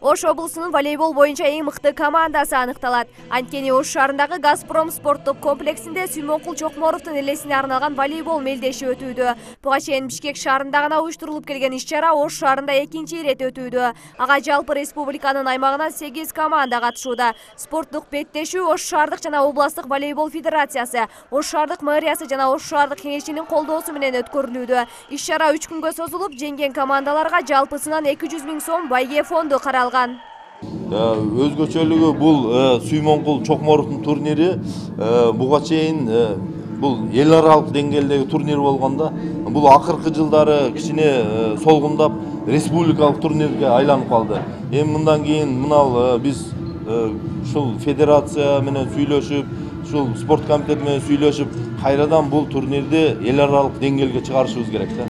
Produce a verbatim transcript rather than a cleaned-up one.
Ош облусунун волейбол боюнча эң мыкты командасы аныкталат. Анткени Ош шаарындагы Газпром спорттук комплексинде Сүймөнкул Чокморовдун элесине арналган волейбол мелдеши өтүүдө. Буга чейин Бишкек шаарында гана уюштурулуп келген иш-чара Ош шаарында экинчи ирет өтүүдө. Ага жалпы республиканын аймагынан сегиз команда катышууда. Спорттук беттешүү Ош шаардык жана областтык волейбол федерациясы, Ош шаардык мэриясы жана Ош шаардык кеңешинин колдоосу менен өткөрүлүүдө. Иш-чара үч күнгө созулуп, жеңген командаларга жалпысынан эки жүз миң сом байге фонду каралган. Өзгөчөлүгү бул Сүймөнкул Чокморовдун турнири. Буга чейин бул эл аралык деңгээлдеги турнир болгондо, бул акыркы жылдары кичине солгундап республикалык турнирге айланып калды. Эми мындан кийин мынал биз ушул федерация менен сүйлөшүп, ушул спорт комитети менен сүйлөшүп, кайрадан бул турнирди эл аралык деңгээлге чыгарышыбыз керек.